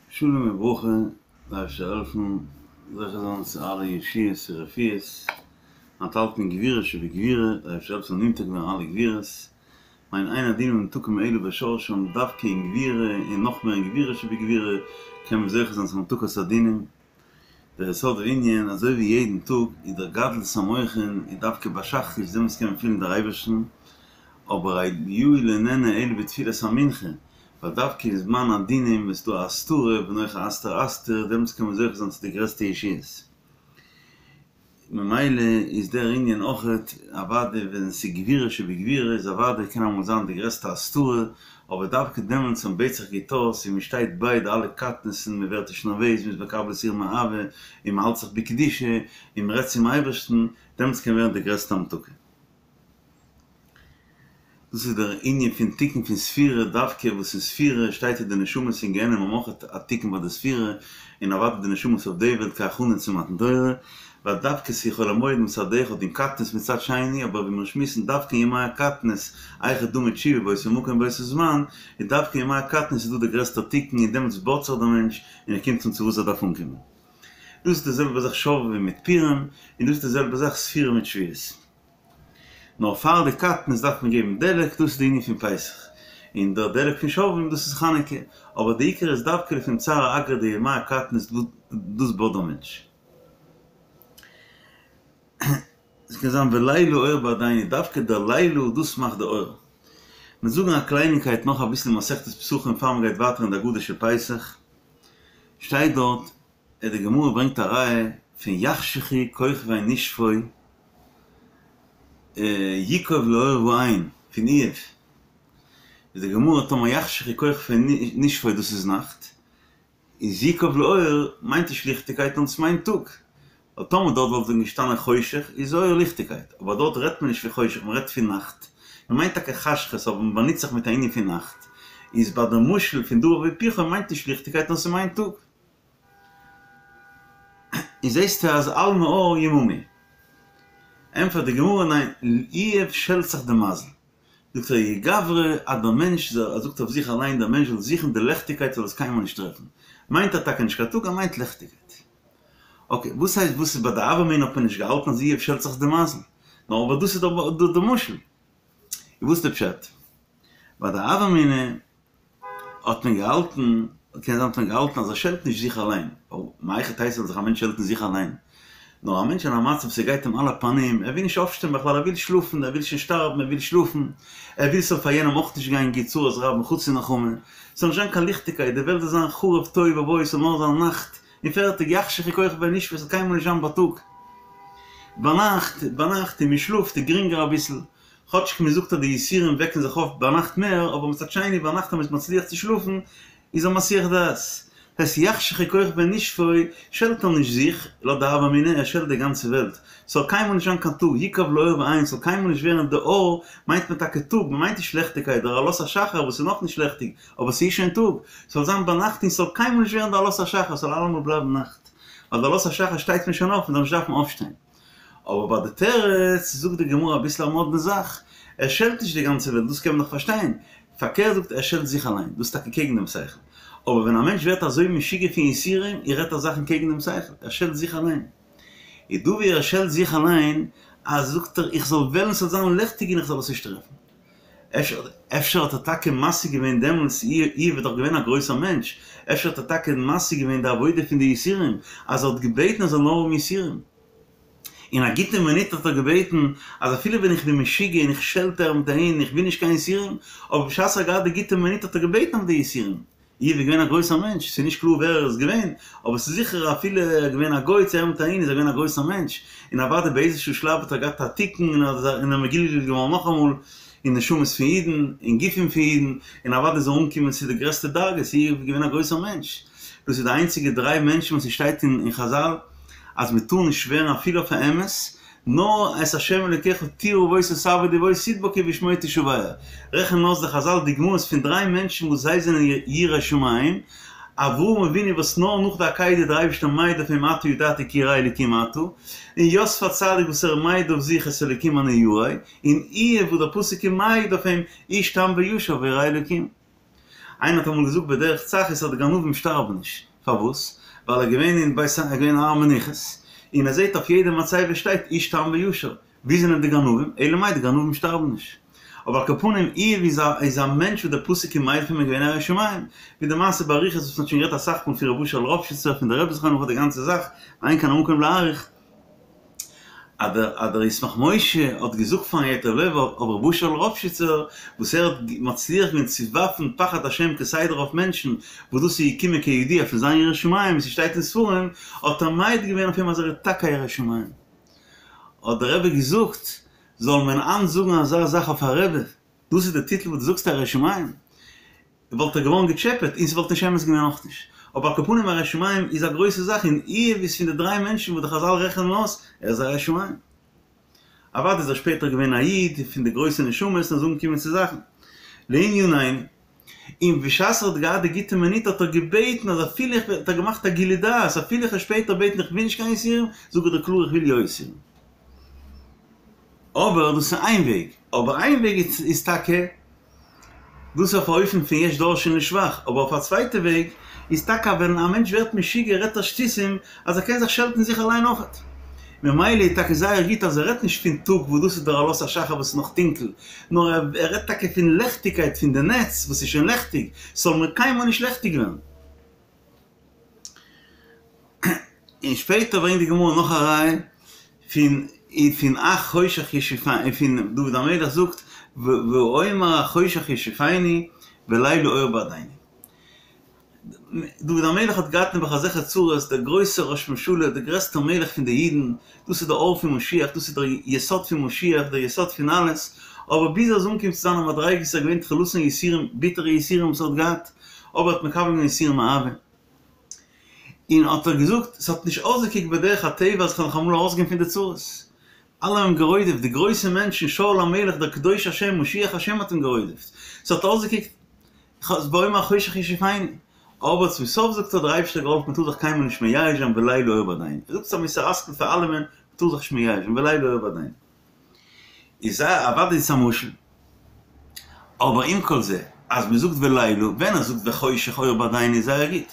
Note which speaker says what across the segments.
Speaker 1: שלום וברכה, דער אייבערשטער זאל העלפן זוכה זיין צו אלע ישועות און רפואות, היינט האלט מען גבורה שבגבורה, דער אייבערשטער זאל העלפן ס'זאל נמתק ווערן אלע גבורות, מיין אין הדין ממתקים אלא בשורשם, דווקא אין גבורה און נאך מער אין גבורה שבגבורה קען מען זוכה זיין צו המתקת הדינים. דער יסוד הענין, אזוי ווי יעדן טאג איז דער גדלות המוחין איז דווקא ביי שחרית דעמאלטס קען מען פילן דער אייבערשטן, אבער אליהו לא נענה אלא בתפילת המנחה, ווייל דווקא אין זמן הדינים איז דא א הסתרה ואנכי הסתר אסתיר, דעמאלטס קען מען זוכה זיין צו די גרעסטע ישועות. ממילא איז דער ענין אויכעט, אוודאי ווען עס איז גבורה שבגבורה איז אוודאי קען אמאל זיין די גרעסטע הסתרה, אבער דווקא דעמאלטס ווען מ'בעט זיך גוט אויס און מ'שטייט ביי די אלע קטנות'ן, מ'ווערט נישט נערוועז, מ'איז מקבל יסורים מאהבה, און מ'האלט זיך בקדושה, און מ'רעדט צום אייבערשטן, דעמאלטס קען ווערן די גרעסטע המתקה. דאס איז דער ענין פון תיקון פון ספירה, דווקא וואס אין ספירה שטייט אז די נשמות אין גיהנום האבן אויך א תיקון ביי די ספירה, און אוודאי די נשמות אויף די וועלט כהכנה צו מתן תורה, ווייל דווקא ס'איז חול המועד מצד אחד און קטנות מצד שני, אבער ווי מיר שמועסן דווקא אין ימי הקטנות, היכי דמי תשובה באותו מקום באותו זמן, איז דווקא אין ימי הקטנות איז דא דער גרעסטער תיקון און דעמאלטס באדט זיך דער מענטש און ער קומט אן צו וואס ער דארף אנקומען. דאס איז די זעלבע זאך שובבים מיט פורים, און דאס איז די זעלבע זאך ספירה מיט שבועות. נאר פאר די קטנות דארף מען געבן דלק, דאס איז די ענין פון פסח, און דער דלק פון שובבים דאס איז חנוכה, אבער די עיקר איזדווקא לפום צערא אגרא די ימי הקטנות דאס בויט דער מענטש. עס קען זיין ולילה אור בעדינו, דווקא דער לילה דאס מאכט די אור. מיר זאגן א קלייניקייט נאך אביסל אין מסכת פסחים פאר מען גייט ווייטער אין די הגדה של פסח, שטייט דארט און די גמרא ברענגט א ראיה פון יחשכו כוכבי נשפו יקוב לאור ואין פון איוב, איז די גמרא טאמער יחשכו כוכבי נשפו דאס איז נאכט, איז יקוב לאור מיינט נישט ליכטיגקייט נאר דאס מיינט טאג, ווייל טאמער דארט וואלט ווען געשטאנען חושך איז אור ליכטיגקייט, אבער דארט רעדט מען נישט פון חושך מען רעדט פון נאכט, מען מיינט טאקע חשכות אבער מען באנוצט זיך מיט א ענין פון נאכט, איז ביי די משל פון דבר והיפוכו מיינט נישט ליכטיגקייט נאר ס'מיינט טאג. און זעסטו אז אלמא אור יממא. ענטפערט די גמרא ניין, איוב שעלט זיך די מזל. זאגט ער האי גברא אז דער מענטש זאל, ער זאגט אויף זיך אליין דער מענטש זאל זוכן די לעכטיגקייט זאל עס קיינמאל נישט טרעפן. מיינט ער טאקע נישט קיין טאג ער מיינט לעכטיגקייט. אקעי, וואס הייסט וואס איז ביי די הוה אמינא האט מען נישט געהאלטן אז איוב שעלט זיך די מזל. נאר אבער דאס איז דאך די משל. און וואס איז די פשט? ביי די הוה אמינא האט מען געהאלטן, קען זיין האט מען געהאלטן אז ער שעלט נישט זיך אליין, ווייל מהיכי תיתי זאל זיך א מענטש שעלטן זיך אליין, נאר א מענטש אין א מצב ס'גייט אים על הפנים, ער וויל נישט אויפשטיין בכלל, ער וויל שלאפן, ער וויל שוין שטארבן, ער וויל שלאפן, ער וויל ס'זאל פאר יענעם אויך נישט גיין גוט, צרת רבים חצי נחמה, ס'זאל נישט זיין קיין ליכטיגקייט, די וועלט זאל זיין חרוב תוהו ובוהו, ס'זאל נאר זיין נאכט, און פערטיג, יחשכו כוכבי נשפו, ס'זאל קיינמאל נישט זיין בייטאג. ביינאכט, ביינאכט און מ'שלאפט איז גרינגער אביסל, כאטשיג מען זאגט אז די יסורים וועקן זיך אויף ביינאכט מער, אבער מצד שני ביינאכט אז מען איז מצליח צו שלאפן איז א מסיח דעת. דאס הייסט יחשכו כוכבי נשפו שעלט ער נישט זיך, לויט די הוה אמינא, ער שעלט די גאנצע וועלט. ס'זאל קיינמאל נישט זיין קיין טאג, יקוב לאור ואין, ס'זאל קיינמאל נישט ווערן די אור, מיינט מען טאקע טאג, מען מיינט נישט לעכטיגקייט, דער עלות השחר וואס איז נאכנישט לעכטיג, אבער ס'איז שוין טאג, ס'זאל זיין ביינאכט און ס'זאל קיינמאל נישט ווערן די עלות השחר, ס'זאל אלעמאל בלייבן נאכט. ווייל די עלות השחר שטייט מען שוין אויף, מען זאל נישט דארפן אויפשטיין. אבער ביי די תירוץ זאגט די גמרא אביסל א מאדנע זאך, ער שעלט נישט די גאנצע וועלט, דאס קען מען דאך פארשטיין, פארקערט זאגט ער שעלט זיך אליין, דאס איז טאקע קעגן דעם שכל, אבער ווען א מענטש ווערט אזוי משוגע פון יסורים, ער רעדט א זאכן קעגן דעם שכל, ער שעלט זיך אליין. איז דא ווי ער שעלט זיך אליין, אז זאגט ער איך זאל וועלן ס'זאל זיין ליכטיג און איך זאל עס נישט טרעפן. אפשר אפשר האט ער טאקע משיג געווען דעמאלטס, איוב איז דאך געווען א גרויסער מענטש, אפשר האט ער טאקע משיג געווען די עבודה פון די יסורים, אז ער האט געבעטן ער זאל נאר האבן יסורים. אין א גוטע מינוט האט ער געבעטן אז אפילו ווען איך בין משוגע און איך שעלט אהער מיט אהין און איך וויל נישט קיין יסורים, אבער בשעת ער האט געהאט די גוטע מינוט האט ער געבעטן אויף די יסורים. איוב איז געווען א גרויסער מענטש, ס'איז נישט קלאר ווער ער איז געווען, אבער ס'איז זיכער אפילו ער איז געווען א גוי צו אהער מיט אהין איז ער געווען א גרויסער מענטש, און אוודאי באיזשהו שלב האט ער געהאט א תיקון און ער איז מגולגל געווארן נאכאמאל אין נשמות פון אידן, אין גופים פון אידן, און אוודאי איז ער אנגעקומען צו די גרעסטע דרגות, איוב איז געווען א גרויסער מענטש. דאס איז די איינציגע דריי מענטשן וואס ס'שטייט אין חזל אז מ'טאר נישט שווערן אפילו אויף א אמת, נאר את ה' אלוקיך תירא ובו תעבוד ובו תדבק ובשמו תשבע. רעכענען אויס די חזל דוגמאות פון דריי מענטשן וואס זיי זענען יראי שמים. אברהם אבינו וואס נאר נאך די עקידה איז דער אייבערשטער מעיד אויף אים עתה ידעתי כי ירא אלקים אתה, און יוסף הצדיק וואס ער מעיד אויף זיך את האלקים אני ירא, און איוב וואס דער פסוק איז מעיד אויף אים איש תם וישר וירא אלקים. איינער האט אמאל געזאגט בדרך צחות אז די גנבים שטארבן נישט, פארוואס? ווייל ער איז געווען אין בית ער איז געווען אין הר המנוחות, און ער זעט אויף יעדע מצבה שטייט איש תם וישר, ווי זענען די גנבים? אלא מאי די גנבים שטארבן נישט. אבער על כל פנים איוב איז א איז א מענטש וואס דער פסוק איז מעיד אויף אים געווען א ירא שמים, ווי די מעשה באריכות וואס מ'האט שוין גערעדט אסאך מאל פון ר' אשר ראפשיצער פון די רבי זכרונו לברכה די גאנצע זאך, ואין כאן המקום להאריך. אז דער אז דער ישמח משה האט געזאגט פארן ייטב לב אויף ר' אשר ראפשיצער וואס ער האט מצליח געווען צו ווארפן פחד השם כסדר אויף מענטשן וואס דאס איז געקומען כידוע פון זיין יראת שמים ווי ס'שטייט אין ספרים האט ער מעיד געווען אויף אים אז ער איז טאקע א ירא שמים האט דער רבי געזאגט זאל מען היינט זאגן אזא זאך אויף א רבי דאס איז די טיטל וואס דו זאגסט א ירא שמים וואלט ער געווארן געטשעפעט און ס'וואלט נישט אמת געווען אויך נישט. אבער על כל פנים א ירא שמים איז א גרויסע זאך און איוב איז פון די דריי מענטשן וואס די חזל רעכענען אויס, ער איז א ירא שמים. אוודאי איז ער שפעטער געווען א איד פון די גרויסע נשמות און איז אנגעקומען צו זאכן. לענינינו. און בשעת ער האט געהאט די גוטע מינוט האט ער געבעטן אז אפילו איך וועל, האט ער געמאכט א גילוי דעת, אפילו איך וועל שפעטער בעטן איך וויל נישט קיין יסורים, זאג איך דיר קלאר איך וויל יא יסורים. אבער דאס איז איין וועג. אבער איין וועג איז טאקע דאס אויף א אופן פון יש דורשין לשבח, אבער אויף א צווייטע וועג איז טאקע ווען א מענטש ווערט משוגע רעדט ער שטותים אז ער קען זיך שעלטן זיך אליין אויכעט. ממילא איז טאקע זייער גוט אז ער רעדט נישט פון טאג וואס דאס איז דער עלות השחר וואס איז נאך טונקל, נאר ער רעדט טאקע פון לעכטיגקייט פון די נץ וואס איז שוין לעכטיג, ס'זאל מיר קיינמאל נישט לעכטיג ווערן. און שפעטער ברענגט די גמרא נאך א ראיה פון פון החושך ישאפני פון דוד המלך זאגט ואומר החושך ישאפני ולילה אור בעדיני. דוד המלך האט געהאט נעבעך אזעלכע צרות, דער גרויסער ראש ממשלה, דער גרעסטער מלך פון די אידן, דאס איז דער אור פון משיח, דאס איז דער יסוד פון משיח, דער יסוד פון אלעס, אבער ביז ער איז אנגעקומען צו זיינע מדריגות איז ער געווען תחילתן יסורים, ביטערע יסורים וואס ער האט געהאט, אבער ער האט מקבל געווען יסורים מאהבה. און האט ער געזאגט, ס'האט נישט אויסגעקוקט בדרך הטבע אז כ'וועל נאך אמאל ארויסגיין פון די צרות. אלע האבן אים גערודפ'ט, די גרויסע מענטשן, שאול המלך, דער קדוש השם, משיח השם האט אים גערודפ'ט. ס'האט אויסגעקוקט, ואומר החושך ישאפני. אבער צום סוף זאגט ער, דער אייבערשטער האט געהאלפן, מ'טאר זיך קיינמאל נישט מייאש זיין ולילה אור בעדיני. ער זאגט ס'איז א מוסר השכל פאר אלעמען, מ'טאר זיך נישט מייאש זיין, ולילה אור בעדיני. איז אוודאי איז עס א משל. אבער עם כל זה, אז מען זאגט ולילה, ווען ער זאגט וחושך אור בעדיני איז זייער גוט,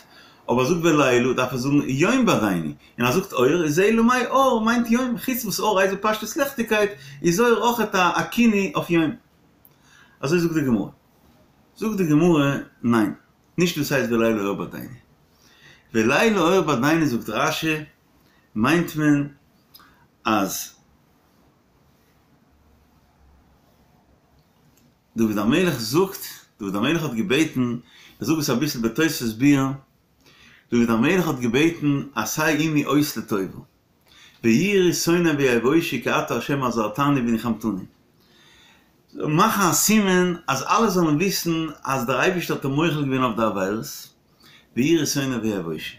Speaker 1: אבער ער זאגט ולילה דארף ער זאגן יום בעדיני, און אז ער זאגט אור איז אלא מאי אור מיינט יום, חוץ וואס אור הייסט בפשטות לעכטיגקייט, איז אור אויכעט א כינוי אויף יום. אזוי זאגט די גמרא. זאגט די גמרא, ניין, נישט דאס הייסט ולילה אור בעדיני. ולילה אור בעדיני זאגט רש"י, מיינט מען אז דוד המלך זאגט, דוד המלך האט געבעטן, איך זאג עס אביסל בתוספות ביאור, דוד המלך האט געבעטן עשה עמי אות לטובה, ויראו שונאי ויבושו כי אתה ה' עזרתני ונחמתני, מאכן א סימן אז אלע זאלן וויסן אז דער אייבערשטער האט אים מוחל געווען אויף די עבירות, ויראו שונאי ויבושו.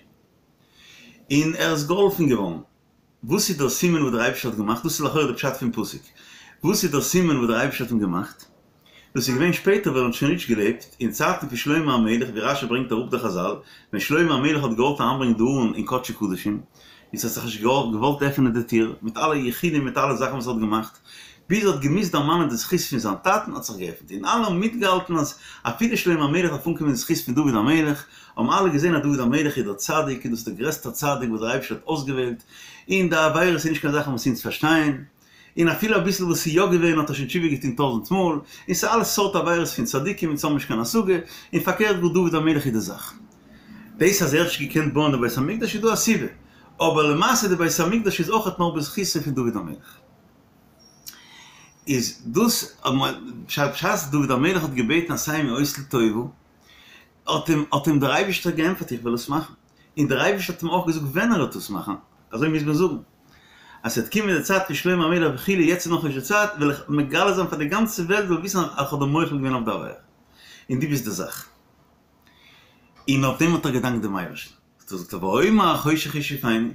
Speaker 1: און ער איז געהאלפן געווארן. וואס איז דער סימן וואס דער אייבערשטער האט געמאכט? דאס איז לכאורה די פשט פון פסוק. וואס איז דער סימן וואס דער אייבערשטער האט אים געמאכט? דאס איז געווען שפעטער ווען ער האט שוין נישט געלעבט, אין צייטן פון שלמה המלך, ווי רש"י ברענגט אראפ די חז"ל, ווען שלמה המלך האט געוואלט אריינברענגען די ארון אין קדשי קדשים, און ס'האט זיך נישט געוואלט עפענען די טיר, מיט אלע יחודים מיט אלע זאכן וואס ער האט געמאכט, ביז ער האט געמוזט דערמאנען די זכות פון זיין טאטן האט זיך געעפנט, און אלע האבן מיטגעהאלטן אז אפילו שלמה המלך דארף אנקומען די זכות פון דוד המלך, האבן אלע געזען אז דוד המלך איז דער צדיק און דאס איז דער גרעסטער צדיק וואס דער אייבערשטער האט אויסגעוועלט, און די עבירות איז נישט קיין זאכן וואס אונז פארשטייען, און אפילו אביסל וואס איז יא געווען האט ער שוין תשובה געטון טויזנט מאל, און ס'איז אלע סארט עבירות פון צדיקים אונז האבן נישט קיין השגה, און פארקערט גאר דוד המלך איז די זאך. דאס אז ער האט נישט געקענט בויען די בית המקדש איז דא א סיבה, אבער למעשה די בית המקדש איז אויכעט נאר בזכותו פון דוד המלך. איז דאס בשעת דוד המלך האט געבעטן עשה עמי אות לטובה, האט אים האט אים דער אייבישטער געענטפערט איך וועל עס מאכן, און דער אייבישטער האט אים אויך געזאגט ווען ער וועט עס מאכן, אזוי מוז מען זאגן, אז ס'וועט קומען די צייט פון שלמה המלך וכו', יעצט איז נאכנישט די צייט, וועל איך מגלה זיין פאר די גאנצע וועלט זאל וויסן אז איך האב דיר מוחל געווען אויף די עבירה, און דו ביסט די זאך. און אויף דעם האט ער געדאנקט דעם אייבערשטן, האט ער געזאגט ואומר החושך ישאפני,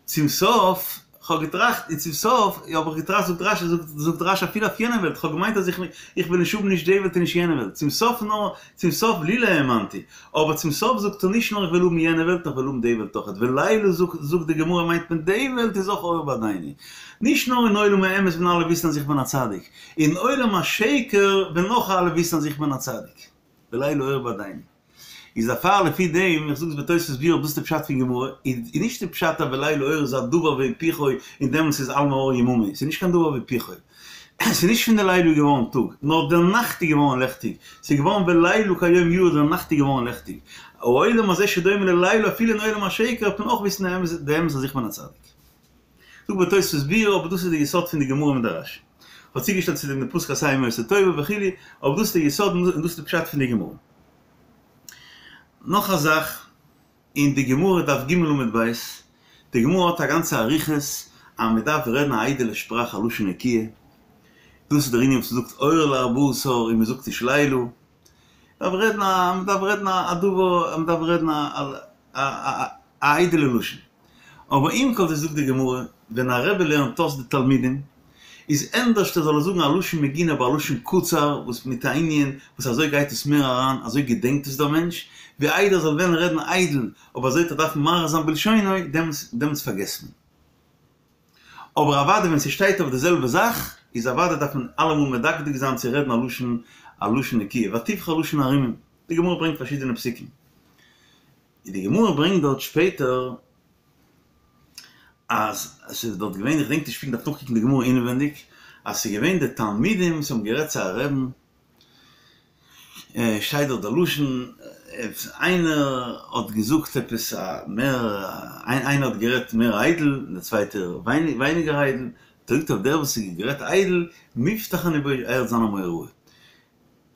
Speaker 1: צום סוף. כ'האב געטראכט, און צום סוף האב איך געטראכט, זאגט רשי, זאגט רשי אפילו אויף יענע וועלט, כ'האב געמיינט אז איך וועל נישט האבן נישט די וועלט און נישט יענע וועלט, צום סוף נאר, צום סוף לולא האמנתי, אבער צום סוף זאגט ער נישט נאר איך וועל האבן יענע וועלט, נאר איך וועל האבן די וועלט אויכעט, ולילה זאגט די גמרא מיינט מען די וועלט איז אויך אור בעדינו, נישט נאר אין עולם האמת וועלן אלע וויסן אז איך בין א צדיק, אין עולם השקר וועלן אויך אלע וויסן אז איך בין א צדיק, ולילה אור בעדינו. איז דערפאר לפי דעם, איך זאג עס בתוספות ביאור דאס איז די פשט פון גמרא, איז נישט די פשט אז ולילה אור איז א דבר והיפוכו און דעמאלטס איז על מאור ימומו, ס'איז נישט קיין דבר והיפוכו, ס'איז נישט פון די לילה איז געווארן טאג, נאר די נאכט איז געווארן לעכטיג, ס'איז געווארן ולילה כיום יאיר די נאכט איז געווארן לעכטיג, העולם הזה שדומה ללילה אפילו אין עולם השקר וועט מען אויך וויסן די אמת אז איך בין א צדיק. זאג בתוספות ביאור אבער דאס איז די יסוד פון די גמרא מיט די רשי. כ'האב צוגעשטעלט צו דעם די פסוק עשה עמו עשה טובה וכו', אבער דאס איז די יסוד און דאס איז די פשט פון די גמרא. נאך א זאך, אין די גמרא דף ג עמוד ב', די גמרא האט א גאנצע אריכות אז מען דארף רעדן א איידעלע שפראך א לשון נקיה, דאס איז דער ענין וואס מען זאגט אור לארבעה עשר און מען זאגט נישט לילה, מען דארף רעדן א מען דארף רעדן א דבר מען דארף רעדן א א איידעלע לשון. אבער עם כל זה זאגט די גמרא, ווען א רבי לערנט אויס די תלמידים, איז ענדערשט ער זאל עס זאגן א לשון מגונה אבער א לשון קצר וואס מיט א ענין וואס אזוי גייט עס מער אריין, אזוי געדענקט עס דער מענטש, ווי איידער ער זאל וועלן רעדן איידל אבער אזוי וועט ער דארפן מאריך זיין בלשונו, דעמאלטס דעמאלטס פארגעסט מען. אבער אוודאי ווען ס'שטייט אויף די זעלבע זאך, איז אוודאי דארף מען אלעמאל מדקדק זיין צו רעדן א לשון א לשון נקיה, ותבחר לשון ערומים, די גמרא ברענגט פארשידענע פסוקים. און די גמרא ברענגט דארט שפעטער אז עס איז דארט געווען, איך געדענק נישט פונקט, דארף נאכקוקן די גמרא אינעווענדיג, אז ס'איז געווען די תלמידים וואס האבן גערעדט צו א רעבן, שטייט דארט די לשון, איינער האט געזאגט עפעס א מער, איינער האט גערעדט מער איידל און דער צווייטער ווייניגער איידל, זאגט אויף דער וואס האט גערעדט איידל, מובטח אני בו ער וועט זיין א מורה הוראה.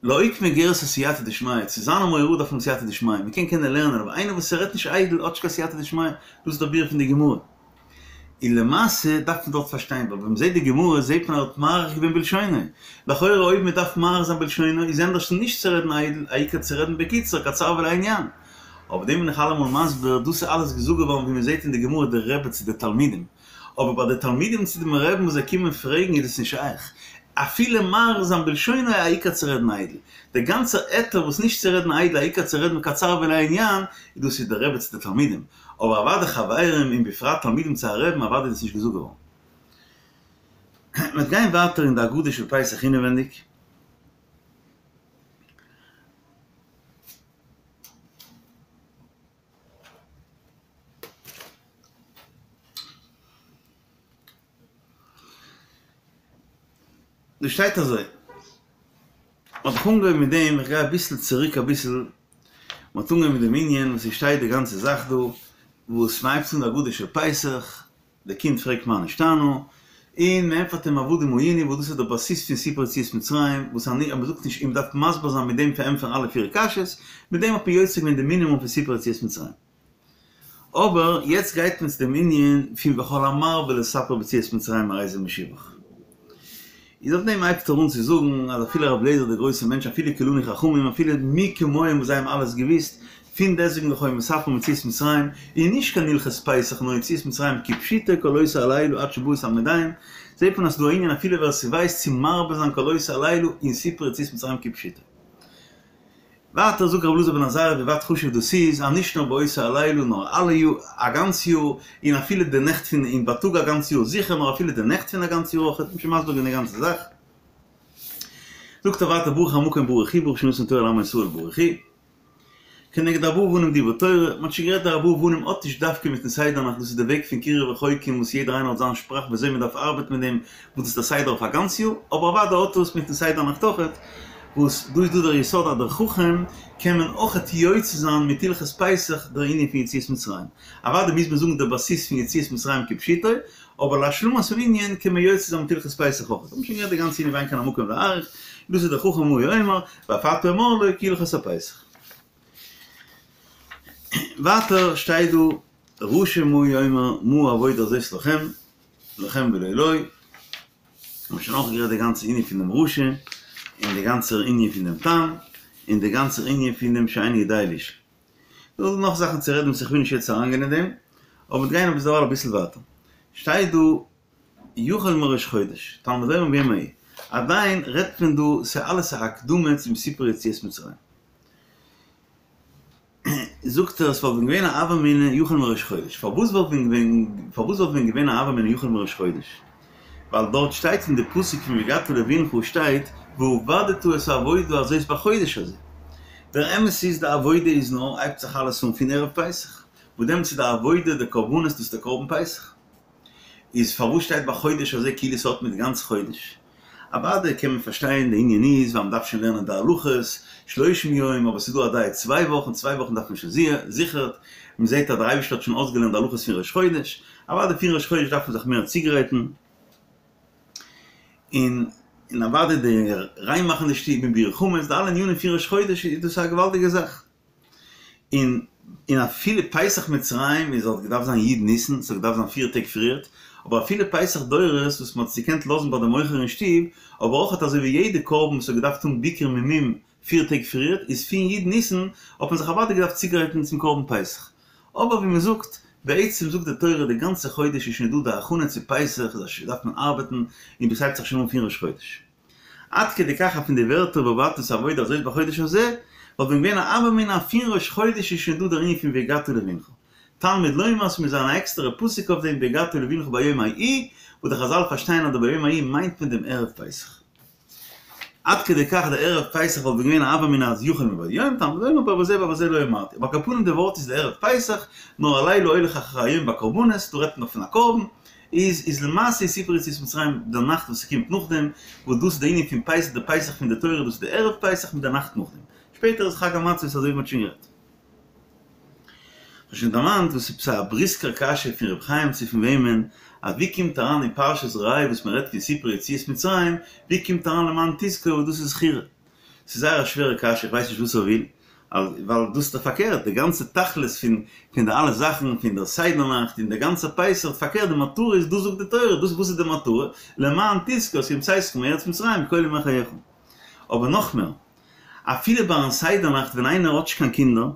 Speaker 1: לאוקמי גירסא סייעתא דשמיא, צו זיין א מורה הוראה דארף מען סייעתא דשמיא, מען קען קענען לערנען אבער איינער וואס רעדט נישט איידל האט נישט קיין סייעתא דשמיא, דאס איז דער ביאור פון די גמרא. און למעשה דארף מען דארט פארשטיין, ווייל ווען מען זעט די גמרא זעט מען ער האט מאריך געווען בלשונו, לכאורה אויב מען דארף מאריך זיין בלשונו איז ענדערש נישט צו רעדן איידל, העיקר צו רעדן בקיצור, קצר ולעניין. אבער דעם בין איך אלעמאל מסביר, דאס איז אלעס געזאגט געווארן ווי מען זעט אין די גמרא די רבי צו די תלמידים, אבער ביי די תלמידים צו דעם רעבן וואס זיי קומען פרעגן איז עס נישט שייך אפילו מאריך זיין בלשונו העיקר צו רעדן איידל. דער גאנצער היתר וואס נישט צו רעדן איידל העיקר צו רעדן קצר ולעניין איז דאס איז דער רבי צו די תלמידים, אבער אוודאי חברים און בפרט תלמידים צו א רעבן אוודאי איז עס נישט געזאגט געווארן. מ'וועט גיין ווייטער אין די הגדה של פסח אינעווענדיג. דא שטייט אזוי, מ'האט דאך אנגעהויבן מיט דעם, איך גיי אביסל צוריק אביסל, מ'האט אנגעהויבן מיט דעם ענין וואס ס'שטייט די גאנצע זאך דא, וואס מ'הייבט אן די הגדה של פסח, די קינד פרעגט מה נשתנה, און מען ענטפערט אים עבדים היינו וואס דאס איז דער בסיס פון סיפור יציאת מצרים, וואס אני אז מען זאגט נישט און מען דארף מסביר זיין מיט דעם פארענטפערן אלע פיר קשיות, מיט דעם האט מען יוצא געווען די מינימום פון סיפור יציאת מצרים. אבער יעצט גייט מען צו דעם ענין פון וכל המרבה לספר ביציאת מצרים הרי זה משובח. איז אויף דעם הייבט ער אן צו זאגן אז אפילו רבי אליעזר דער גרויסער מענטש אפילו כולנו חכמים אפילו מי כמוהם וואס זיי האבן אלעס געוויסט פון דעסוועגן נאך היו מספרים יציאת מצרים איז נישט קיין הלכות פסח נאר יציאת מצרים כפשוטו כל אותו הלילה עד שבאו המדיים זעט מען אז ס'דא א ענין אפילו ווער ס'ווייסט צו מרבה זיין כל אותו הלילה אין סיפור יציאת מצרים כפשוטו. ווייטער זאגט רבי אלעזר בן עזריה ווי ווייט חשוב דאס איז, אז נישט נאר באותו הלילה נאר אלע יאר, א גאנץ יאר, און אפילו די נעכט פון, און בייטאג א גאנץ יאר זיכער, נאר אפילו די נעכט פון א גאנץ יאר אויך, האט מען שוין מסביר געווען די גאנצע זאך. זאגט ער ווייטער ברוך המקום ברוך הוא ברוך שנתן תורה לעמו ישראל ברוך הוא. כנגד ארבעה אבנים דברה תורה, מען האט שוין גערעדט די ארבעה אבנים האט נישט דווקא מיטן סדר נאכט דאס איז די וועג פון קירוב רחוקים וואס יעדער איינער האט זיין שפראך ווי אזוי מען דארף ארבעטן מיט דעם וואס דאס איז דער סדר אויף א גאנץ יאר, אבער אוודאי האט עס מיטן סדר נאכט אויכעט, וואס דא איז דא דער יסוד אז דער חכם קען מען אויכעט יוצא זיין מיט הלכות פסח דער ענין פון יציאת מצרים, אוודאי מוז מען זאגן דער בסיס פון יציאת מצרים כפשוטו, אבער להשלמת הענין קען מען יוצא זיין מיט הלכות פסח אויכעט, האבן שוין גערעדט די גאנצע ענין ואין כאן המקום להאריך, דאס איז דער חכם מה הוא אומר, ואף אתה אמור לו כי הלכות הפסח. ווייטער שטייט דא רשע מה הוא אומר מה העבודה הזאת לכם, לכם ולא לו, האבן שוין אויך גערעדט די גאנצע ענין פון דעם רשע, און די גאנצער ענין פון דעם תם, און די גאנצער ענין פון דעם שאינו יודע לשאול. דא איז נאך זאכן צו רעדן וואס איך וויל נישט יעצט אריינגיין אין דעם, אבער מיר גייען אביסל דערווייל אביסל ווייטער. שטייט דא יחל מראש חודש, תלמוד לומר ביום ההוא, עדיין רעדט מען דא, ס'איז אלעס א הקדמה צום סיפור יציאת מצרים. זאגט ער עס וואלט ווען געווען א הוה אמינא יחל מראש חודש, פארוואס וואלט ווען געווען פארוואס וואלט ווען געווען א הוה אמינא יחל מראש חודש? ווייל דארט שטייט אין די פסוק פון והגדת לבנך שטייט ועבדת את העבודה הזאת בחודש הזה, דער אמת איז די עבודה איז נאר הייבט זיך אלעס אן פון ערב פסח, וואס דעמאלטס איז די עבודה די קרבנות דאס איז די קרבן פסח. איז פארוואס שטייט בחודש הזה כאילו ס'האט מיט גאנץ חודש? אוודאי קען מען פארשטיין די ענין איז ווייל מ'דארף שוין לערנען די הלכות שלושים יום אבער ס'איז דא א דיעה צוויי וואכן, צוויי וואכן דארף מען שוין זיכער, מ'זעהט אז דער אייבערשטער האט שוין אויסגעלערנט די הלכות פון ראש חודש, אוודאי פון ראש חודש דארף מען זיך מער צוגרייטן, און און אוודאי די ריין מאכן די שטוב און ביעור חמץ, די אלע ענינים פון ראש חודש איז דאס א געוואלדיגע זאך. און און אפילו פסח מצרים איז האט געדארפט זיין י' ניסן, ס'האט געדארפט זיין פיר טעג פריערט, אבער אפילו פסח דורות וואס מ'האט עס געקענט לאזן ביי די מוכר אין שטוב, אבער אויך אזוי ווי יעדע קרבן וואס האט געדארפט האבן ביקור ממום פיר טעג פריערט, איז פון י' ניסן האט מען זיך אוודאי געדארפט צוגרייטן צום קרבן פסח. אבער ווי מ'זאגט, בעצם זאגט די תורה די גאנצע חודש איז שוין דא די הכנה צו פסח, איז דארף מען ארבעטן, און דאס הייבט זיך שוין אן פון ראש חודש. עד כדי כך אז פון די ווערטער ועבדת את העבודה הזאת בחודש הזה, וואלט ווען געווען א הוה אמינא אז פון ראש חודש איז שוין דא דער ענין פון והגדת לבנך. תלמוד לומר ס'מוז זיין א עקסטערע פסוק אויף דעם והגדת לבנך ביום ההוא, וואס די חזל פארשטייען אז די ביום ההוא מיינט מען דעם ערב פסח. עד כדי כך די ערב פסח וואלט ווען געווען א הוה אמינא אז יחל מבעוד יום, תלמוד לומר בזה ובזה לא אמרתי. אבער על כל פנים די ווארט איז די ערב פסח, נאר הלילה הולך אחר היום בקרבנות, דא רעדט מען דאך פון א קרבן, איז איז למעשה איז סיפור יציאת מצרים די נאכט וואס ס'קומט נאכדעם, וואס דאס איז די ענין פון פסח די פסח פון די תורה דאס איז די ערב פסח מיט די נאכט נאכדעם, שפעטער איז חג המצות אזוי ווי מ'האט שוין גערעדט. כ'האב שוין דערמאנט וואס איז עפעס א בריסקער קשיא פון ר' חיים צו פון וועמען, אז ווי קומט אריין אין פרשת ראה וואס מ'רעדט פון סיפור יציאת מצרים, ווי קומט אריין למען תזכור וואס דאס איז זכירה? ס'איז זייער א שווערע קשיא, איך ווייס נישט וואס ער וויל, ווייל דאס איז דאך פארקערט, די גאנצע תכלית פון פון די אלע זאכן, פון דער סדר נאכט און דער גאנצער פסח, פארקערט די מטרה איז, דאס זאגט די תורה, דאס וואס איז די מטרה? למען תזכור את יום צאתך מארץ מצרים כל ימי חייך. אבער נאכמער, אפילו ביים סדר נאכט ווען איינער האט נישט קיין קינדער,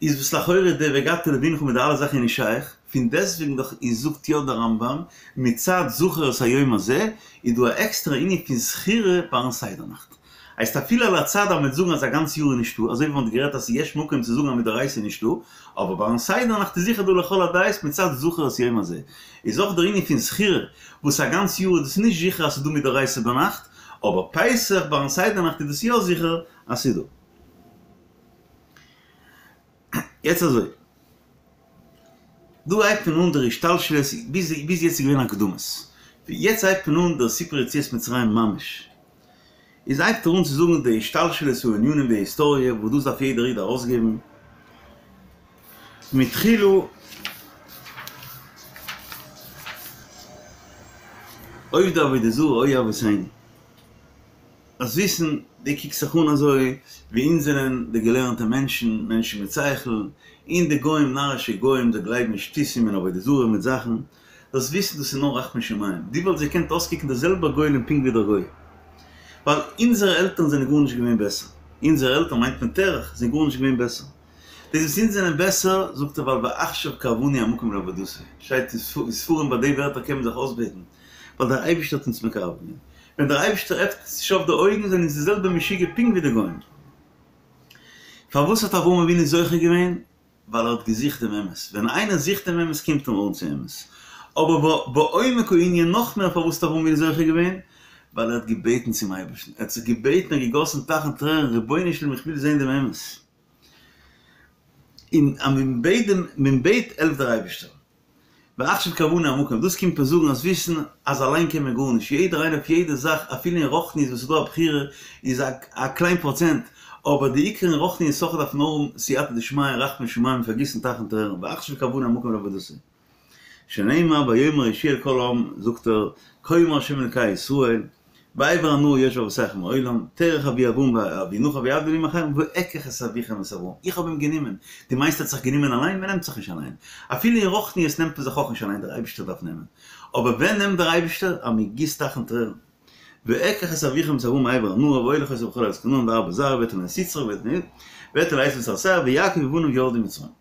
Speaker 1: איז וואס לכאורה די והגדת לבנך מיט די אלע זאכן איז נישט שייך, פון דעסטוועגן דאך איז זאגט יא דער רמב"ם, מצד זכור את היום הזה, איז דא א עקסטערע ענין פון זכירה ביים סדר נאכט. הייסט אפילו על הצד אז מ'וועט זאגן אז א גאנץ יאר איז נישטא, אזוי ווי מ'האט גערעדט אז ס'איז יש מקום צו זאגן אז מדאורייתא איז נישטא, אבער ביים סדר נאכט איז זיכער דא לכל הדעות מצד זכור את היום הזה. איז אויך דער ענין פון זכירה, וואס א גאנץ יאר איז דאס נישט זיכער אז ס'איז דא מדאורייתא ביינאכט, אבער פסח ביים סדר נאכט איז דאס יא זיכער אז ס'איז דא. יעצט אזוי, דא הייבט מען אן דער השתלשלות, ביז ביז יעצט איז געווען הקדמות, יעצט הייבט מען אן דער סיפור יציאת מצרים ממש, איז הייבט ער אן צו זאגן די השתלשלות הענינים די היסטאריע וואס דאס דארף יעדער איד ארויסגעבן מתחילה עובדי עבודה זרה היו אבותינו. זאלסט וויסן, דו קוקסט זיך אן אזוי ווי אונז זענען די געלערנטע מענטשן, מענטשן מיט שכל, און די גוים, נארישע גוים, זיי גלייבן אין שטותים און עבודה זרה מיט זאכן. זאלסט וויסן דאס איז נאר רחמי שמים. דו וואלסט געקענט אויסקוקן דער זעלבער גולם פונקט ווי דער גוי. ווייל אונזערע עלטערן זענען גארנישט געווען בעסער. אונזערע עלטערן מיינט מען תרח, זענען גארנישט געווען בעסער. דאס וואס אונז זענען בעסער, זאגט ער ווייל ועכשיו קרבנו המקום לעבודתו. שטייט אין ספרים ביי די ווערטער קען מען זיך אויסבעטן. ווייל דער אייבערשטער האט אונז מקרב געווען. ווען דער אייבערשטער עפנט נישט אויף די אויגן זענען אונז די זעלבע משוגע פונקט ווי די גוים. פארוואס האט אברהם אבינו זוכה געווען? ווייל ער האט געזוכט דעם אמת. ווען איינער זוכט דעם אמת קומט ער אן צו אמת. אבער בעומק הענין נאך מער פארוואס האט אברהם אבינו זוכה געווען? ווייל ער האט געבעטן צום אייבערשטן. ער האט זיך געבעטן און געגאסן טייכן טרערן, רבונו של עולם איך וויל זען דעם אמת. און אז מען בעט דעם, מען בעט העלפט דער אייבערשטער. ועכשיו קרבנו המקום, דאס קומט מען זאגן אז וויסן אז אליין קען מען גארנישט, יעדער איינער אויף יעדע זאך אפילו אין רוחניות וואס איז דא א בחירה איז א א קליין פראצענט, אבער די עיקר אין רוחניות אויך דארף נאר האבן סייעתא דשמיא און רחמי שמים און פארגיסן טייכן טרערן, ועכשיו קרבנו המקום לעבודתו. שנאמר ויאמר יהושע אל כל העם, זאגט ער, כה אמר ה' אלקי ישראל, בעבר הנהר יושבי אבותיכם מעולם, תרח אבי אברהם ואבי נחור ויעבדו אלהים אחרים, ואקח את אביכם את אברהם, איך האב אים גענומען, דו מיינסט ער האט זיך גענומען אליין? מען נעמט זיך נישט אליין, אפילו אין רוחניות נעמט מען זיך אויך נישט אליין, דער אייבערשטער דארף נעמען, אבער ווען נעמט דער אייבערשטער? אז מען גיסט טייכן טרערן, ואקח את אביכם את אברהם מעבר הנהר ואולך אותו בכל ארץ כנען וארבה זרעו ואתן לו את יצחק ואתן לעשו את הר שעיר ויעקב ובניו ירדו מצרימה.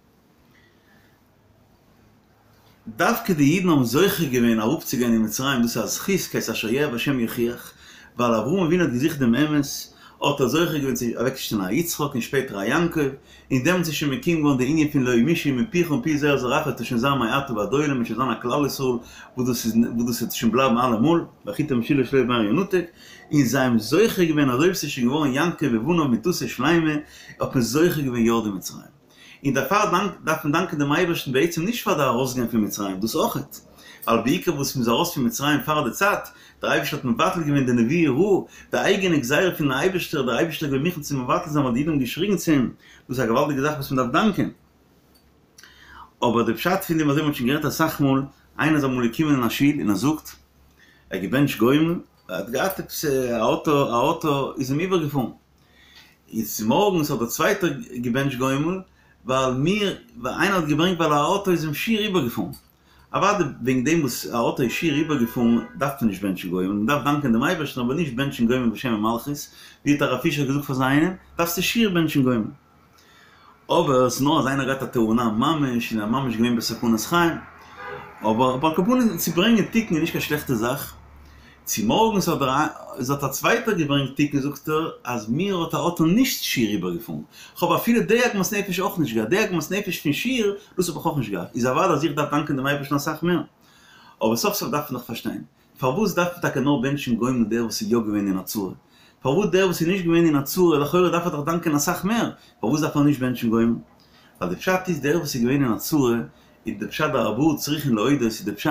Speaker 1: דווקא די אידן האבן זוכה געווען אראפצוגיין אין מצרים, דאס איז א זכות, כעת אשר יאהב השם יוכיח, ווייל אברהם אבינו האט געזוכט דעם אמת, האט ער זוכה געווען צו אוועקצושטעלן א יצחק און שפעטער א יעקב, און דעמאלטס איז שוין מקוים געווארן די ענין פון לא ימושו מפיך ומפי זרע זרעך וועט עס שוין זיין מעתה ועד עולם און שוין זיין א כלל ישראל וואס דאס איז וואס דאס וועט שוין בלייבן אלעמאל, והחוט המשולש לא ימהר ינתק, און זיי האבן זוכה געווען אזוי ווי ס'איז שוין געווארן יעקב ובניו מטתו שלימה, האט מען זוכה געווען ירדו מצרים. און דערפאר דארף מען דאנקען דעם אייבערשטן בעצם נישט פאר די ארויסגיין פון מצרים, דאס אויכעט, ווייל בעיקר וואס מ'איז ארויס פון מצרים פאר די צייט, דער אייבערשטער האט מבטל געווען די נבואה רעה, די אייגענע גזירה פונעם אייבערשטער, דער אייבערשטער איז געווען מוכן צו מבטל זיין ווייל די אידן האבן געשריגן צו אים, דאס איז א געוואלדיגע זאך וואס מ'דארף דאנקען. אבער די פשט פון דעם, אזוי ווי מ'האט שוין גערעדט אסאך מאל, איינער איז אמאל געקומען אין א שול און ער זאגט, ער האט געבענטשט גומל, ער האט געהאט עפעס א אויטא, א אויטא איז אים איבערגעפארן, און צומארגנס האט דער צווייטער געבענטשט גומל, ווייל מיר, ווייל איינער האט געברענגט ווייל א אויטא איז אים שיער איבערגעפארן. אוודאי וועגן דעם וואס א אויטא איז שיער איבערגעפארן דארף מען נישט בענטשן גומל, מען דארף דאנקען דעם אייבערשטן אבער נישט בענטשן גומל בשם ומלכות, ווי האט הרב פישער געזאגט פאר זיינעם, דארפסטו שיער בענטשן גומל. אבער ס'איז נאר אז איינער געהאט א תאונה ממש און ער ממש געווען בסכנת חיים. אבער על כל פנים צו ברענגען תיקון איז נישט קיין שלעכטע זאך. צומארגנס האט דער איז האט א צווייטער געברענגט תיקון זאגט ער אז מיר האט א אויטא נישט שיער איבערגעפארן. כ'האב אפילו די עגמת נפש אויך נישט געהאט. די עגמת נפש פון שיער דאס האב איך אויך נישט געהאט. איז אוודאי אז איך דארף דאנקען דעם אייבערשטן אסאך מער. אבער סוף סוף דארף מען דאך פארשטיין. פארוואס דארף מען טאקע נאר בענטשן גומל דער וואס איז יא געווען אין א צרה? פארוואס דער וואס איז נישט געווען אין א צרה לכאורה דארף ער דאך דאנקען אסאך מער, פארוואס דארף ער נישט בענטשן גומל? ווייל די פשט איז דער וואס איז געווען אין א צרה איז די פשט דארבעה צריכין להודות איז די פשט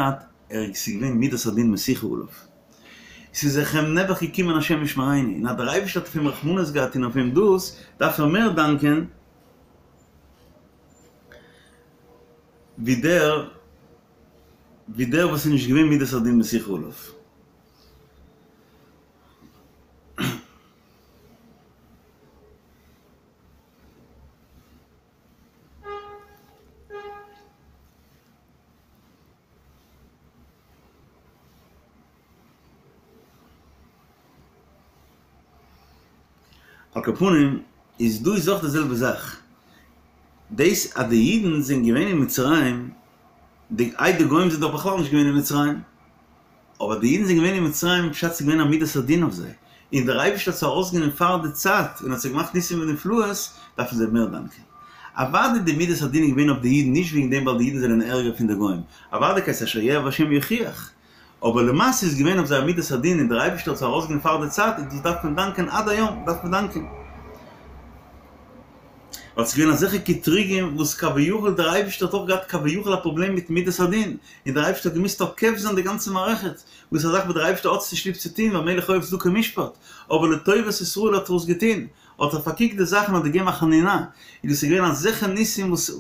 Speaker 1: ער איז ס'איז געווען מידת הדין מסיחה עליו ס'איז זיך אים נעבעך געקומען השם ישמרינו און אז דער אייבערשטער האט אויף אים רחמנות געהאט און אויף אים דאס דארף ער מער דאנקען ווי דער ווי דער וואס איז נישט געווען מידת הדין מסיחה עליו. על כל פנים, איז דא איז אויך די זעלבע זאך. דאס אז די אידן זענען געווען אין מצרים, די איי די גוים זענען דאך בכלל נישט געווען אין מצרים, אבער די אידן זענען געווען אין מצרים פשט ס'איז געווען א מידת הדין אויף זיי, און דער אייבערשטער האט זיי ארויסגענומען פאר די צייט און האט זיי געמאכט ניסים ונפלאות, דארפן זיי מער דאנקען. אוודאי די מידת הדין איז געווען אויף די אידן נישט וועגן דעם ווייל די אידן זענען ערגער פון די גוים, אוודאי כעת אשר יאהב השם יוכיח, אבער למעשה איז געווען אויף זיי א מידת הדין און דער אייבערשטער האט זיי ארויסגענומען פאר די צייט און דאס דארף מען דאנקען עד היום דארף מען דאנקען. ווייל ס'איז געווען אזעלכע קטרוגים וואס כביכול דער אייבערשטער האט אויך געהאט כביכול א פראבלעם מיט מידת הדין און דער אייבערשטער האט געמוזט תוקף זיין די גאנצע מערכת וואס איז א זאך וואס דער אייבערשטער האט נישט ליב צו טון ווייל מלך אוהב צדקה ומשפט אבער לטובת ישראל האט ער עס געטון האט ער פארקוקט די זאכן און האט געגעבן א חנינה און דאס איז געווען אזעלכע ניסים וואס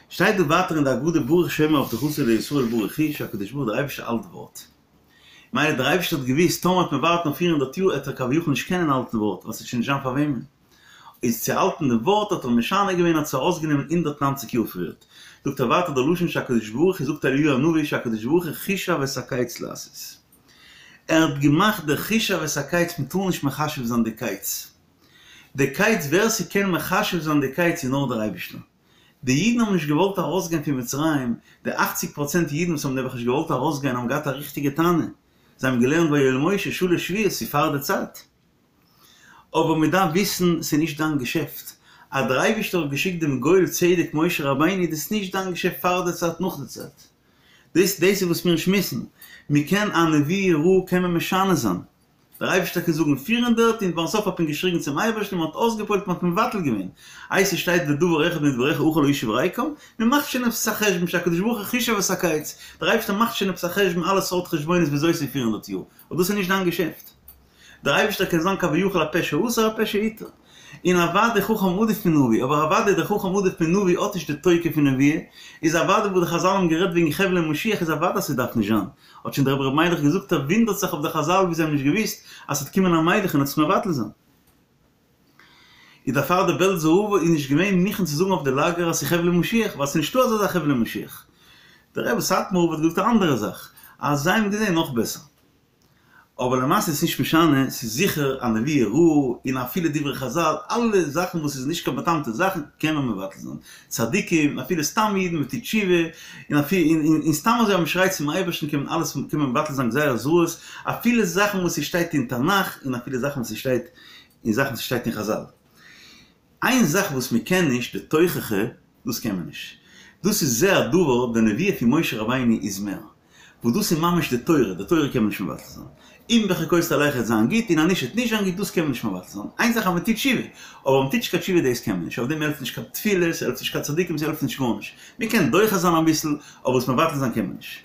Speaker 1: שטייט דא ווייטער אין די הגדה ברוך שומר הבטחתו לישראל ברוך הוא שהקדוש ברוך הוא דער אייבערשטער האלט ווארט. מילא דער אייבערשטער האט געוואוסט טאמער וועט מען ווארטן אויף פיר הונדערט יאר עט ער כביכול נישט קענען האלטן ווארט ווייל ס'וועט שוין נישט זיין פאר וועמען. איז צו האלטן די ווארט האט ער משנה געווען האט זיי ארויסגענומען הונדערט נײַנציק יאר פריערט. זאגט ער ווייטער די לשון שהקדוש ברוך הוא זאגט אליהו הנביא שהקדוש ברוך הוא חישב את הקץ לעשות. ער האט געמאכט די חישב את הקץ מ'טאר נישט מחשב זיין די קץ. די קץ ווער ס'קען מחשב זיין די קץ איז נאר דער אייבישטער. די אידן האבן נישט געוואלט ארויסגיין פון מצרים, די אכציג פראצענט אידן וואס האבן נעבעך נישט געוואלט ארויסגיין האבן געהאט א ריכטיגע טענה, זיי האבן געלערנט ויואל משה שלש שבועות ס'איז פאר די צייט. אבער מען דארף וויסן ס'איז נישט דיין געשעפט, אז דער אייבישטער האט געשיקט דעם גואל צדק משה רבינו איז דאס נישט דיין געשעפט פאר די צייט נאך די צייט. דאס דאס איז וואס מיר שמועסן, מען קען א נבואה רעה קען מען משנה זיין, דער אייבערשטער קען זאגן פיר הונדערט און ביים סוף האט מען געשריגן צום אייבערשטן און מען האט אויסגעפועלט מען האט מבטל געווען, איי ס'שטייט ודבר אחד מדבריך אוכל להושיב ריקם, מען מאכט שוין עפעס א חשבון שהקדוש ברוך הוא חישב את הקץ, דער אייבערשטער מאכט שוין עפעס א חשבון אלע סארט חשבונות וויאזוי ס'איז פיר הונדערט יאר, אבער דאס איז נישט דיין געשעפט. דער אייבערשטער קען זיין כביכול הפה שאסר הפה שהתיר. און אוודאי חכם עדיף מנביא, אבער אוודאי דער חכם עדיף מנביא האט נישט די תוקף פון נבואה, איז אוודאי וואס די חזל האבן גערעדט וועגן חבלי משיח איז אוודאי אז ס'דארף נישט זיין, האט שוין דער רבי ר' מיילעך געזאגט ער וואונדערט זיך אויף די חזל ווי זיי האבן נישט געוואוסט אז ס'וועט קומען א מלך און עס מבטל זיין. איז דערפאר דער בעלזער רב איז נישט געווען מוכן צו זאגן אויף די לאגער אז ס'איז חבלי משיח, ווייל ס'איז נישטא אזא זאך חבלי משיח. דער רבי סאטמאר רב האט געזאגט א אנדערע זאך, אז זיי האבן געזען נאך בעסער. אבער למעשה איז נישט משנה, ס'איז זיכער א נבואה רעה, און אפילו דברי חזל, אלע זאכן וואס איז נישט קיין בא'טעמ'טע זאכן קען מען מבטל זיין, צדיקים, אפילו סתם אידן מ'טוט תשובה, און און סתם אזוי אז מ'שרייט צום אייבערשטן קען מען אלעס קען מען מבטל זיין גזירות רעות, אפילו זאכן וואס ס'שטייט אין תנך, און אפילו זאכן וואס ס'שטייט און זאכן וואס ס'שטייט אין חזל. איין זאך וואס מ'קען נישט, די תוכחה, דאס קען מען נישט. דאס איז זה הדבר, די נבואה פון משה רבינו איז מער. וואס דאס איז ממש די תורה, די תורה קען מען נישט מבטל זיין. אם בחוקותי תלכו וועט זיין גוט, און אז נישט וועט נישט זיין גוט, דאס קען מען נישט מבטל זיין. איין זאך אז מען טוט תשובה, אבער מען טוט נישט קיין תשובה דאס קען מען נישט. אויף דעם העלפט נישט קיין תפילות, ס'העלפט נישט קיין צדיקים, ס'העלפט נישט גארנישט. מען קען דוחה זיין אביסל, אבער עס מבטל זיין קען מען נישט.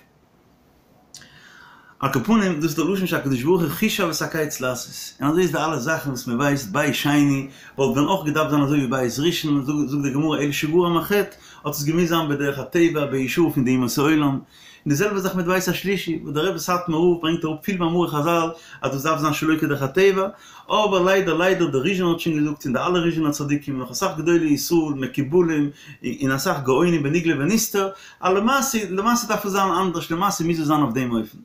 Speaker 1: על כל פנים, דאס איז דער לשון שהקדוש ברוך הוא חישב את הקץ לעשות. און אזוי איז די אלע זאכן וואס מען ווייסט, בית שני וואלט ווען אויך געדארפט זיין אזוי ווי בית ראשון, זאגט די גמרא אלא שגרם החטא, האט עס געמוזט זיין בדרך הטבע, באישור פון די אומות העולם. און די זעלבע זאך מיט בית השלישי, וואס דער רבי סאטמאר רב ברענגט אראפ פיל מאמרי חזל אז דאס דארף זיין שלא כדרך הטבע, אבער ליידער ליידער דער ריזשינער האט שוין געזאגט און די אלע ריזשינער צדיקים און נאך אסאך גדולי ישראל מקובלים און אסאך גאונים בנגלה ונסתר אז למעשה למעשה דארף עס זיין אנדערש למעשה מוז עס זיין אויף דעם אופן.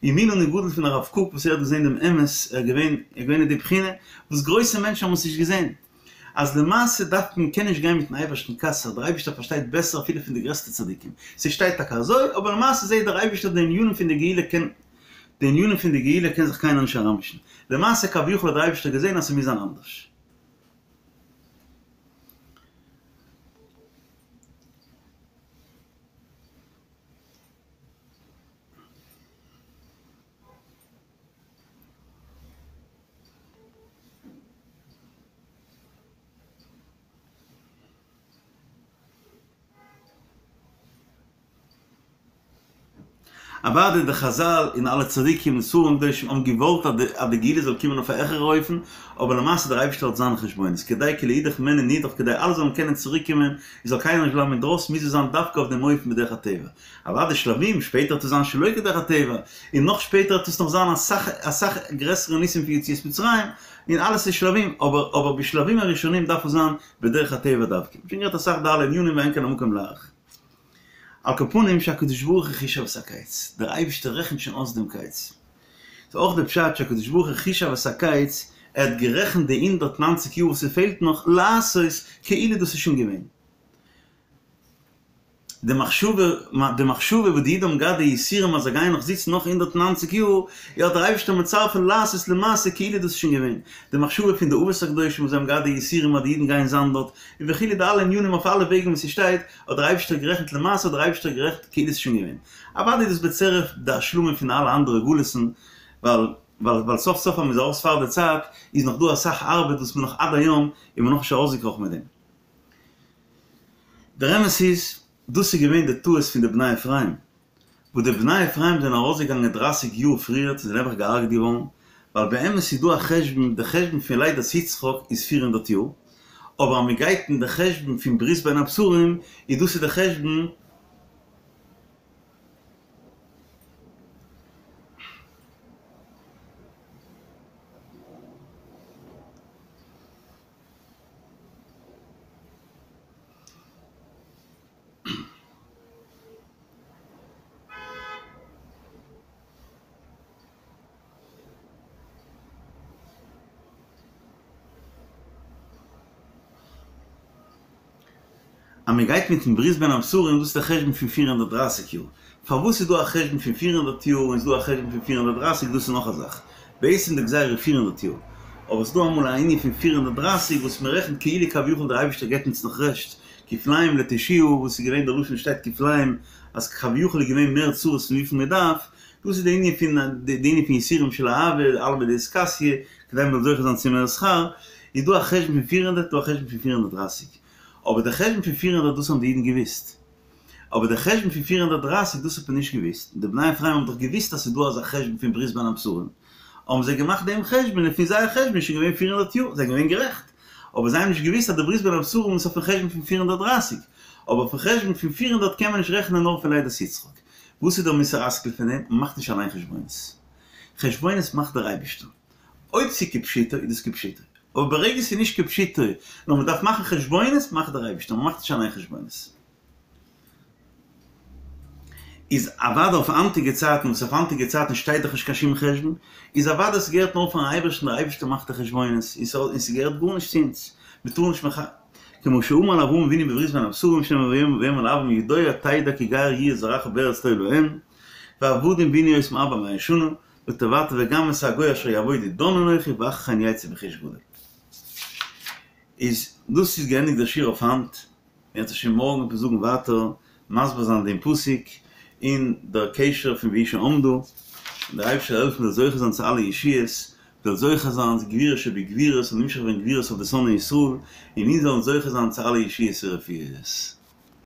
Speaker 1: און מי לנו גדול פון הרב קוק וואס ער האט געזען דעם אמת ער איז געווען ער איז געווען אין די בחינה וואס גרויסע מענטשן האבן עס נישט געזען אז למעשה דארף מען קען נישט גיין מיטן אייבערשטן קצר דער אייבערשטער פארשטייט בעסער אפילו פון די גרעסטע צדיקים ס'שטייט טאקע אזוי אבער למעשה זעט דער אייבערשטער די ענינים פון די גאולה קען די ענינים פון די גאולה קען זיך קיינער נישט אריינמישן. למעשה כביכול האט דער אייבערשטער געזען אז ס'מוז זיין אנדערש. אוודאי די חזל און אלע צדיקים און ספרים קדושים האבן געוואלט אז די גאולה זאל קומען אויף א העכערע אופן, אבער למעשה דער אייבערשטער האט זיינע חשבונות, כדי כי לאידך מעין נידח כדי אלע זאלן קענען צוריק קומען און זאל קיינער נישט בלייבן אינדרויסן מוז עס זיין דווקא אויף דעם אופן בדרך הטבע. אוודאי שלבים, שפעטער וועט עס זיין שלא כדרך הטבע, און נאך שפעטער וועט עס נאך זיין אסאך אסאך גרעסערע ניסים פון יציאת מצרים, און אלעס איז שלבים, אבער אבער בשלבים הראשונים דארף עס זיין בדרך הטבע דווקא. שוין גערעדט אסאך די אלע ענינים ואין כאן המקום להאריך. על כל פנים שהקדוש ברוך הוא חישב את הקץ, דער אייבערשטער רעכנט שוין אויס דעם קץ. ס'איז אויך די פשט שהקדוש ברוך הוא חישב את הקץ, ער האט גערעכנט די הונדערט נײַנציק יאר וואס ס'פעלט נאך לעשות כאילו דאס איז שוין געווען. די מחשבה, די מחשבה וואס די אידן האבן געהאט די יסורים אז זיי גייען נאך זיצן נאך הונדערט נײַנציק יאר, יא האט דער אייבערשטער מצרף לעשות למעשה כאילו דאס איז שוין געווען. די מחשבה פון די אבות הקדושים וואס זיי האבן געהאט די יסורים אז די אידן גייען זיין דארט, און וכו' די אלע ענינים אויף אלע וועגן וואס ס'שטייט, האט דער אייבערשטער גערעכנט למעשה האט דער אייבערשטער גערעכנט כאילו ס'איז שוין געווען. אוודאי איז דאס בצירוף די השלמה פון אלע אנדערע גלות'ן, ווייל ווייל ווייל סוף סוף אז מ'איז ארויס פאר די צייט, איז נאך דא אסאך ארבעט וואס מ'נאך עד היום איז מען נאכנישט ארויסגעקראכן מיט דעם. דער אמת איז, דאס איז געווען די טעות פון די בני אפרים, וואס די בני אפרים זענען ארויסגעגאנגען דרייסיג יאר פריער זענען נעבעך געהארגעט געווארן, ווייל באמת איז דא א חשבון, די חשבון פון לידת יצחק איז פיר הונדערט יאר, אבער אז מען גייט אין די חשבון פון ברית בין הבתרים איז דאס איז די חשבון, אז מען גייט מיטן ברית בין הבתרים דאס איז די חשבון פון פיר הונדערט דרייסיג יאר, פארוואס איז דא א חשבון פון פיר הונדערט יאר און איז דא א חשבון פון פיר הונדערט דרייסיג דאס איז נאך א זאך, בעצם די גזירה איז פיר הונדערט יאר, אבער ס'איז דא אמאל א ענין פון פיר הונדערט דרייסיג וואס מען רעכנט כאילו כביכול דער אייבערשטער געבט אונז נאך רעשט, כפליים לתושיה וואס איז געווען דער לשון שטייט כפליים אז כביכול איז געווען מער צרות פון וויפיל מען דארף, דאס איז די ענין פון די ענין פון יסורים של אהבה, עלמא דאתכסיא, כדי מען זאל זוכה זיין צו מער שכר, איז דא א חשבון פון פיר הונדערט דא א חשבון פון פיר הונדערט דרייסיג, אבער די חשבון פון פיר הונדערט דאס האבן די אידן געוואוסט, אבער די חשבון פון פיר הונדערט דרייסיג דאס האט מען נישט געוואוסט, און די בני אפרים האבן דאך געוואוסט אז ס'איז דא אזא חשבון פון ברית בין הבתרים, האבן זיי געמאכט דעם חשבון און פון זייער חשבון איז שוין געווען פיר הונדערט יאר, זיי זענען געווען גערעכט, אבער זיי האבן נישט געוואוסט אז די ברית בין הבתרים איז אויפן חשבון פון פיר הונדערט דרייסיג, אבער אויפן חשבון פון פיר הונדערט קען מען נישט רעכענען נאר פון לידת יצחק. וואס איז דער מוסר השכל פון דעם? מ'מאכט נישט אליין חשבונות. חשבונות מאכט דער אייבערשטער. אויב ס'איז כפשוטו איז דאס כפשוטו. אבער ברגע ס'איז נישט כפשוטו, נאר מ'דארף מאכן חשבונות, מאכט דער אייבערשטער, מ'מאכט נישט אליין חשבונות. איז אוודאי אויף היינטיגע צייטן, וואס אויף היינטיגע צייטן שטייט דאך נישט קיין שום חשבון, איז אוודאי ס'געהערט נאר פארן אייבערשטן, דער אייבערשטער מאכט די חשבונות, און ס'געהערט גארנישט צו אונז, מ'טאר נישט מח. כמו שאמר לאברהם אבינו בברית בין הבתרים שנאמר ויאמר לאברם ידוע תדע כי גר יהיה זרעך בארץ לא להם ועבדום וענו אותם ארבע מאות שנה ותבעת וגם את הגוי אשר יעבודו דן אנכי ואחרי כן יצאו ברכוש גדול. איז דאס איז געענדיגט דער שיעור אויף היינט, אם ירצה השם מארגן וועט מען זאגן ווייטער מסביר זיין דעם פסוק און דער קשר פון והיא שעמדה, און דער אייבערשטער זאל העלפן מ'זאל זוכה זיין צו אלע ישועות, מ'זאל זוכה זיין צו גבורה שבגבורות און נמשך ווערן גבורות אויף די שונאי ישראל, און אונז זאלן זוכה זיין צו אלע ישועות ורפואות.